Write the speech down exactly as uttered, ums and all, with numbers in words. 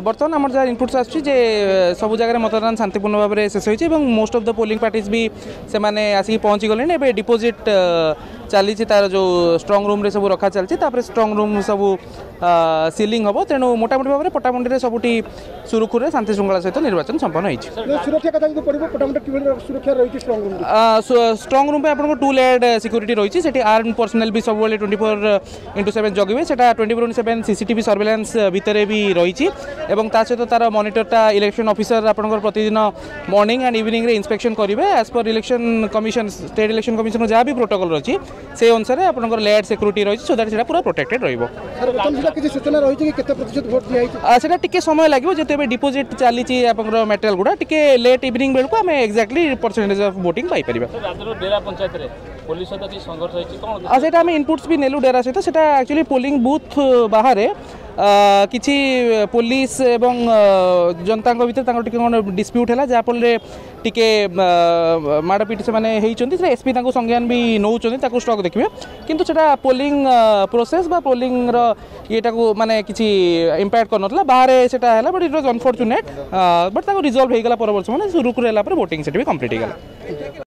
ବର୍ତ୍ତମାନ ଆମର ଯାହା ଇନପୁଟ୍ସ ଆସୁଛି ଯେ ସବୁ ଜାଗାରେ ମତଦାନ ଶାନ୍ତିପୂର୍ଣ୍ଣ ଭାବରେ ଶେଷ ହୋଇଛି ଏବଂ most of the polling parties ବି ସେମାନେ ଆସିକି ପହଞ୍ଚି ଗଲେଣି। ଏବେ ଡିପୋଜିଟ୍ ଚାଲିଛି, ତାର ଯେଉଁ ଷ୍ଟ୍ରଙ୍ଗ ରୁମ୍ରେ ସବୁ ରଖା ଚାଲିଛି, ତାପରେ ଷ୍ଟ୍ରଙ୍ଗ ରୁମ୍ ସବୁ ସିଲିଂ ହେବ। ତେଣୁ ମୋଟାମୋଟି ଭାବରେ ପଟ୍ଟାମୁଣ୍ଡିରେ ସବୁଠି ସୁରୁଖୁରୁରେ ଶାନ୍ତି ଶୃଙ୍ଖଳା ସହିତ ନିର୍ବାଚନ ସମ୍ପନ୍ନ ହୋଇଛି। ସୁରକ୍ଷା କଥା ଯଦି ପଡ଼ିବ, ପଟ୍ଟାମୁଣ୍ଡା କିଭଳି ସୁରକ୍ଷା ରହିଛି ଷ୍ଟ୍ରଙ୍ଗ ରୁମ୍? ଷ୍ଟ୍ରଙ୍ଗ ରୁମ୍ ପାଇଁ ଆପଣଙ୍କ ଟୁ ଲେୟାର୍ଡ ସିକ୍ୟୁରିଟି ରହିଛି। ସେଠି ଆର୍ମ ପର୍ସନାଲ ବି ସବୁବେଳେ ଟ୍ୱେଣ୍ଟି ଫୋର୍ ଇଣ୍ଟୁ ସେଭେନ୍ ଜଗିବେ। ସେଟା twenty four into seven C C T V surveillance ଭିତରେ ବି ରହିଛି ଏବଂ ତା ସହିତ ତାର ମନିଟରଟା ଇଲେକ୍ସନ୍ ଅଫିସର ଆପଣଙ୍କର ପ୍ରତିଦିନ ମର୍ଣ୍ଣିଂ ଆଣ୍ଡ ଇଭିନିଂରେ ଇନ୍ସପେକ୍ସନ୍ କରିବେ। As per Election Commission, State Election Commission ଯାହା ବି ପ୍ରୋଟୋକଲ୍ ରହିଛି, ସେଇ ଅନୁସାରେ ଆପଣଙ୍କର ଲେୟାର୍ଡ ସିକ୍ୟୁରିଟି ରହିଛି, ସୋ that ସେଟା ପୁରା ପ୍ରୋଟେକ୍ଟେଡ୍ ରହିବ। ସାର୍, ବର୍ତ୍ତମାନ ସୁଦ୍ଧା କିଛି ସୂଚନା ରହିଛି କି କେତେ ପ୍ରତିଶତ ଭୋଟ ଦିଆହେଇଛି? ସେଟା ଟିକେ ସମୟ ଲାଗିବ, ଯେହେତୁ ଏବେ ଡିପୋଜିଟ୍ ଚାଲିଛି ଆପଣଙ୍କର ମ୍ୟାଟେରିଆଲ ଗୁଡ଼ା। ଟିକେ ଲେଟ୍ ଇଭିନିଂ ବେଳକୁ ଆମେ ଏକ୍ଜାକ୍ଟଲି ପରସେଣ୍ଟେଜ୍ ଅଫ୍ ଭୋଟିଂ ପାଇପାରିବା। ରାଜ୍ୟର ଡେରା ପଞ୍ଚାୟତରେ ପୋଲିସ ସହିତ କିଛି ସଂଘର୍ଷ ହେଇଛି, କ'ଣ? ଆଉ ସେଇଟା ଆମେ ଇନପୁଟ୍ସ ବି ନେଲୁ ଡେରା ସହିତ। ସେଟା ଆକ୍ଚୁଆଲି ପୋଲିଂ ବୁଥ୍ ବାହାରେ କିଛି ପୋଲିସ ଏବଂ ଜନତାଙ୍କ ଭିତରେ ତାଙ୍କର ଟିକେ କ'ଣ ଡିସ୍ପ୍ୟୁଟ୍ ହେଲା, ଯାହାଫଳରେ ଟିକେ ମାଡ଼ପିଟ ସେମାନେ ହେଇଛନ୍ତି। ସେଟା ଏସ୍ପି ତାଙ୍କୁ ସଂଜ୍ଞାନ ବି ନେଉଛନ୍ତି, ତାକୁ ଷ୍ଟକ୍ ଦେଖିବେ। କିନ୍ତୁ ସେଟା ପୋଲିଂ ପ୍ରୋସେସ୍ ବା ପୋଲିଂର ଇଏଟାକୁ ମାନେ କିଛି ଇମ୍ପାକ୍ଟ କରିନଥିଲା। ବାହାରେ ସେଟା ହେଲା, but it was unfortunate, but ତାକୁ ରିଜଲ୍ଭ ହେଇଗଲା ପରବର୍ତ୍ତୀ ସମୟରେ। ସୁରୁଖୁରୁ ହେଲା ପରେ ଭୋଟିଂ ସେଠି ବି କମ୍ପ୍ଲିଟ୍ ହେଇଗଲା।